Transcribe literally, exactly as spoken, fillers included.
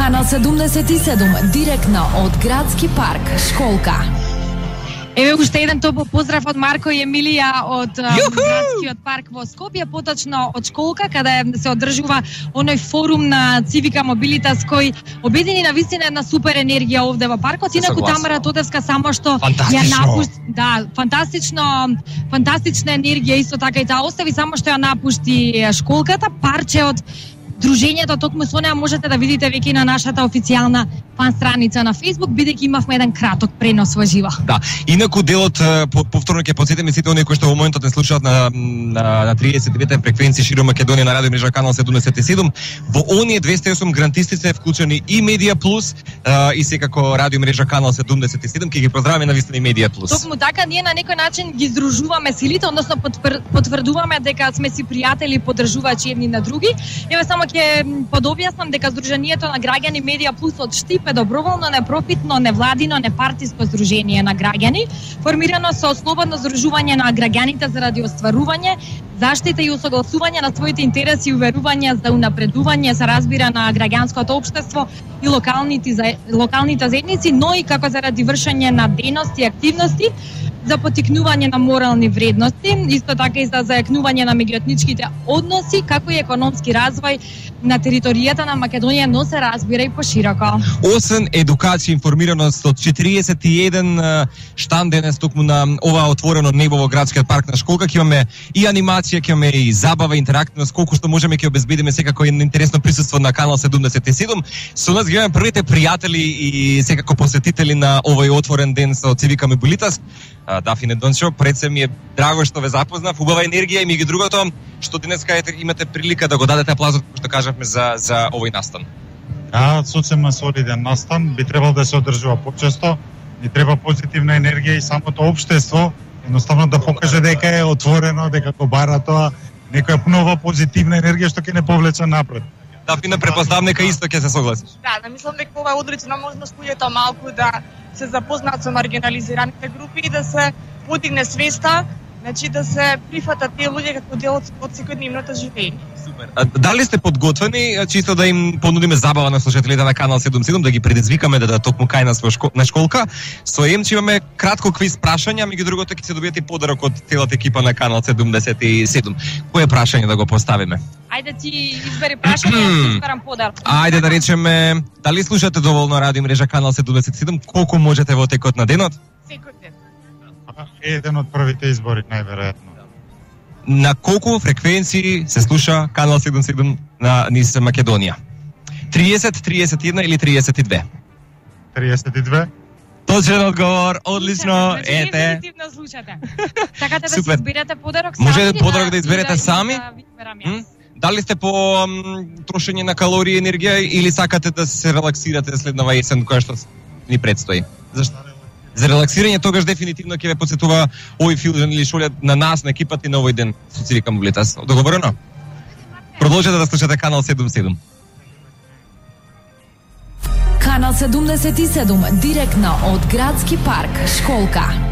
Канал седумдесет и седум, директно од Градски парк, Школка. Еве уште еден топол поздрав од Марко и Емилија од Градскиот парк во Скопје, поточно од Школка, каде се одржува оној форум на Цивика Мобилитас кој обедини на вистина една супер енергија овде во паркот. Инаку Тамара Тодевска само што ја напушти, да, фантастично, фантастична енергија исто така и таа остави, само што ја напушти Школката, парче од дружењето, токму со неа можете да видите веќе на нашата официјална фан страница на Facebook, бидејќи имавме еден краток пренос во живо. Да, инаку делот повторно ќе потсетиме сите оние кои што во моментот не слушаат на на, на триесет и девета фреквенција широм Македонија на радио мрежа канал седумдесет и седум. Во оние двесте и осум грантисти се вклучени и Медија Плюс а, и секако радио мрежа канал седумдесет и седум, ќе ги поздравиме на вистина и Медија Плюс. Токму така, ние на некој начин ги здружуваме силите, односно потврдуваме дека сме си пријатели и поддржувачи едни на други. Еве само ќе подобјаснам дека Сдруженијето на граѓани Медија Плюс од Штип е доброволно, непрофитно, невладино, непартиско здружение на граѓани, формирано со слободно здружување на граѓаните заради остварување, заштита и усогласување на своите интереси и уверувања за унапредување, се разбира, на граѓанското општество и локалните локалните заедници, но и како заради вршење на дејности и активности за потикнување на морални вредности, исто така и за зајакнување на меѓуетничките односи, како и економски развој на територијата на Македонија, но се разбира и пошироко. Освен едукација и информираност од четириесет и еден штанд денес токму на ова отворено небо во Градскиот парк на Школка, ќе имаме и анимација, ќе имаме и забава, интерактивност, колку што можеме ќе обезбедиме секако едно интересно присуство на канал седумдесет и седум. Со нас ги имаме првите пријатели и секако посетители на овој отворен ден со Цивика Мобилитас. Дафине Дончо, пред се ми е драго што ве запознав, убава енергија и меѓу другото што денеска имате прилика да го дадете аплаузот што кажавме за за овој настан. Да, сосема солиден настан, би требало да се одржува почесто, ни треба позитивна енергија и самото општество едноставно да покаже дека е отворено, дека го бара тоа, некоја нова позитивна енергија што ќе не повлече напред. Дафина, препоставам дека исто ќе се согласиш. Да, да, мислам дека ова е одлична можност луѓето малку да се запознаат со маргинализираните групи и да се подигне свеста, значи да се прифатат тие луѓе како дел од секојдневното живење. Супер. А, дали сте подготвени чисто да им понудиме забава на слушателите на канал седумдесет и седум, да ги предизвикаме да да токму кај нас во школ, на Школка? Со Емче имаме кратко квиз прашања, меѓу другото ќе се добиете и подарок од целата екипа на канал седумдесет и седум. Кое прашање да го поставиме? Ајде ти избери прашање, јас изберам подарок. Ајде да речеме, дали слушате доволно радио мрежа канал седумдесет и седум? Колку можете во текот на денот? Секој ден. Еден од првите избори, најверојатно. На колку фреквенции се слуша канал седумдесет и седум на низ Македонија? триесет, триесет и една или триесет и две? триесет и две. Точен одговор, одлично, значи, ете. дефинитивно слушате. Така да си изберете подарок сами. Може подарок да изберете да, сами? Да ви изберам јас. Дали сте по м, трошење на калории и енергија или сакате да се релаксирате следнава есен која што ни предстои? Зашто? За релаксирање тогаш дефинитивно ќе ве посетува овој филм или шолја на нас, на екипата и на овој ден со Цивика Мобилитас. Договорено? Продолжете да слушате канал седумдесет и седум. Канал седумдесет и седум, директно од Градски парк, Школка.